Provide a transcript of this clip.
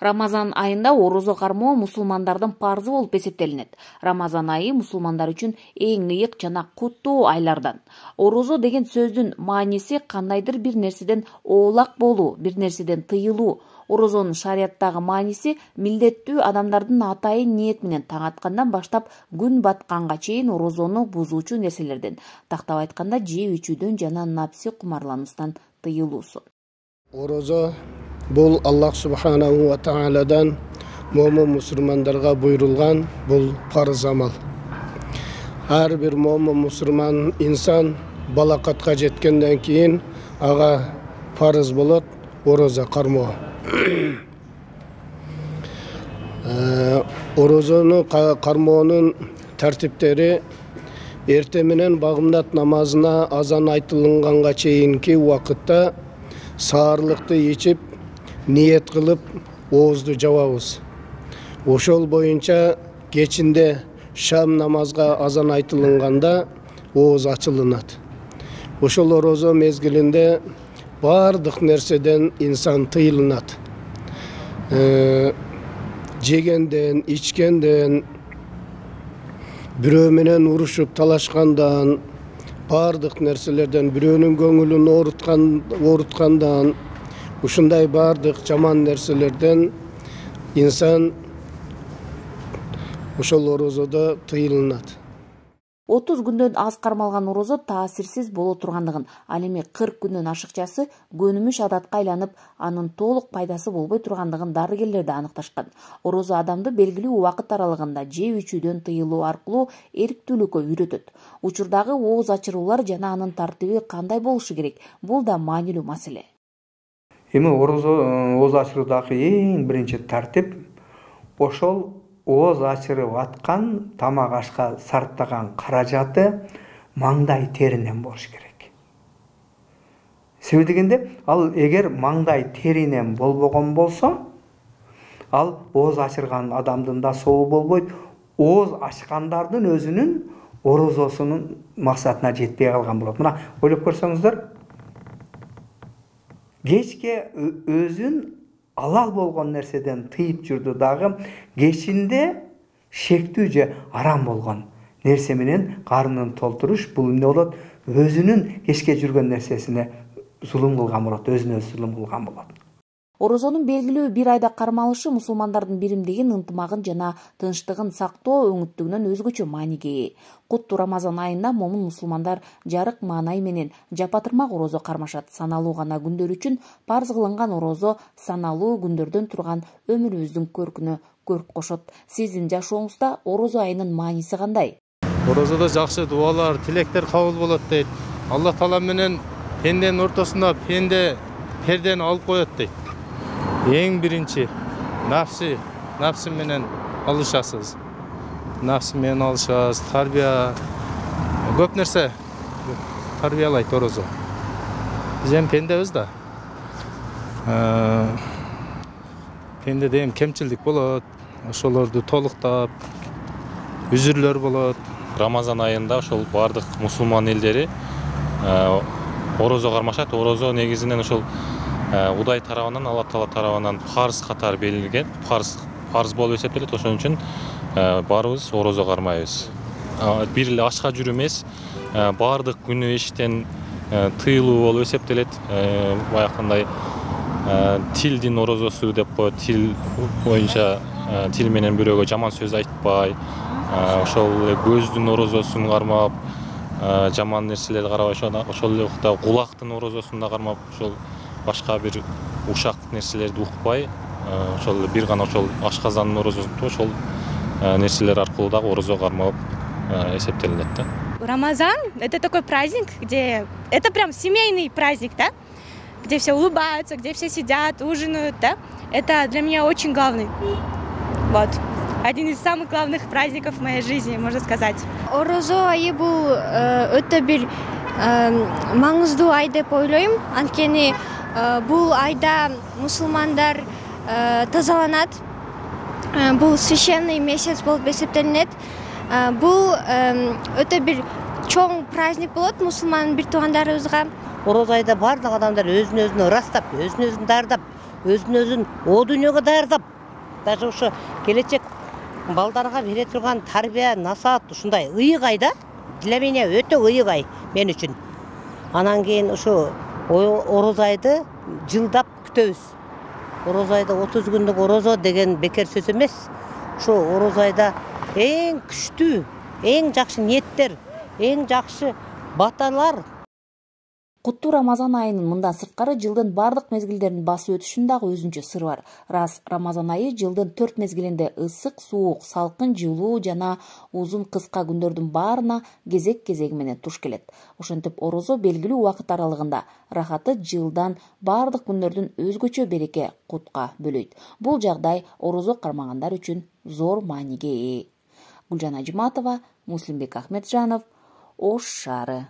Рамазан айында орозо кармоо мусулмандардын парзы болуп эсептелинет. Рамазан айы мусулмандар үчүн эң ыйык жана куттуу айлардан. Орозо деген сөздүн мааниси кандайдыр бир нерседен оолак болуу, бир нерседен тыйылуу. Орозонун шарияттагы мааниси милдеттүү адамдардын атайын ниет менен таң аткандан баштап күн батканга чейин орозону бузуучу нерселерден, тактап айтканда жеп ичүүдөн жана напси кумарлануусунан тыйылуусу. Орозо бул Аллах субханаху ва тааладан момун мусулмандарга буйрулган бул парыз амал. Ар бир момун мусулман инсан балакатка жеткенден кийин ага парыз болот орозо кармоо. Орозону кармоонун тартиптери эрте менен багымдат намазына азан айтылганга чейинки убакытта саарлыкты ичип ниет кылып оозду жабабыз. Ошол боюнча кечинде шам намазга азан айтылганда ооз ачылынат. Ошол орозо мезгилинде бардык нерседен инсан тыйылынат. Жегенден, ичкенден, бирөө менен урушуп талашкандан, бардык нерселерден, бирөөнүн көңүлүн ооруткандан, ушундай бардык жаман нерселерден инсан ошол орозодо тыйылынат. 30 күндөн аз кармалган орозо таасирсиз боло тургандыгын, ал эми 40 күндөн ашыкчасы көнүмүш адатка айланып, анын толук пайдасы болбой тургандыгын дарыгерлер да аныкташкан. Орозо адамды белгилүү убакыт аралыгында жеп ичүүдөн тыйылуу аркылуу эрктүүлүккө үйрөтөт. Учурдагы ооз ачыруулар жана анын тартиби кандай болушу керек? Бул да маанилүү маселе. Эми ооз ачыруудагы эң биринчи тартип ошол ооз ачырып аткан тамак ашка сарптаган каражаты маңдай теринен болуш керек. Себеби дегенде, ал эгер маңдай теринен болбогон болсо, ал ооз ачырган адамдын да сообу болбойт, ооз ачкандардын өзүнүн орозосунун максатына жетпей калган болот. Мына ойлоп көрсөңүздөр, кечке өзүн алал болгон нерседен тыйып жүрдү дагы, кечинде шектүү же арам болгон нерсе менен карнын толтуруш, бул эмне болот? Өзүнүн кечке жүргөн нерсесине зулум кылган болот, өзүнө өзү зулум кылган болот. Орозонун белгилүү бир айда кармалышы мусулмандардын биримдигин, ынтымагын жана тынчтыгын сактоо өңүттүгүнөн өзгөчө мааниге ээ. Куттуу Рамазан айында момун мусулмандар жарык маанай менен жапатырмак орозо кармашат. Саналуу гана күндөр үчүн парз кылынган орозо саналуу күндөрдөн турган өмүрүбүздүн көркүнө көрк кошот. Сиздин жашооңузда орозо айынын мааниси кандай? Орозодо жакшы дуалар, тилектер кабыл болот дейт. Алла таала менен пенденин ортосунда пердени алып коет дейт. Эң биринчи напсы менен алышасыз. Напсы менен алышасыз, тарбия, көп нерсе тарбиялайт орозо. Биз эми пендебиз да. Пендеде эми кемчилдик болот, ошолорду толуктап, үзүрлөр болот. Рамазан айында ошол бардык мусулман элдери орозо кармашат. Орозо негизинен ошол Удай тарабынан, Алла Таала тарабынан парз катары белгилген, парз болуп эсептелет. Ошон үчүн баарыбыз орозо кармайбыз. Бир эле ачка жүрүү эмес, бардык күнөө иштен тыйылуу болуп эсептелет. Баягындай тилдин орозосу деп коет, тил боюнча тил менен бирөөгө жаман сөз айтпай, ошол эле көздүн орозосун кармап, жаман нерселерди карабай, ошол эле убакта кулактын орозосун да кармап, ошол башка бир ушак нерселерди укпай, ошол бир гана ошол ашказандын орозосун туруп, ошол нерселер аркылуу дагы орозо кармап эсептелинет да. Рамазан — это такой праздник, где это прям семейный праздник, да? Где все улыбаются, где все сидят, ужинают, да? Это для меня очень главный. Вот. Один из самых главных праздников в моей жизни, можно сказать. Орозо айы бул өтө бир маңыздуу ай деп ойлойм. Анткени бул айда мусулмандар тазаланат. Бул священный месяц болуп эсептелинет. Бул өтө бир чоң праздник болот мусулман бир туугандарыбызга. Орозо айда бардык адамдар өзүн өзүн ырастап, өзүн өзүн дардап, өзүн о дүйнөгө даярдап, даже ошо келечек балдарга бере турган тарбия, насаат ушундай ыйык ай да. Для меня өтө ыйык ай мен үчүн. Анан кийин ошо орозо айды жылдап күтөбүз. Орозо айда 30 күндүк орозо деген бекер сөз эмес. Ошо орозо айда эң күчтүү, эң жакшы ниеттер, эң жакшы баталар. Куттуу Рамазан айынын мындан сырткары жылдын бардык мезгилдерин басып өтүшүнүн дагы өзүнчө сыры бар. Рас Рамазан айы жылдын 4 мезгилинде ысык, суук, салкын, жылуу жана узун кыска күндөрдүн баарына кезек-кезеги менен туш келет. Ошентип орозо белгилүү убакыт аралыгында рахаты жылдан бардык күндөрдүн өзгөчө береке, кутка бөлөйт. Бул жагдай орозо кармагандар үчүн зор мааниге ээ. Гүлжан Ажыматова, Муслимбек Ахметжанов, Ош шаары.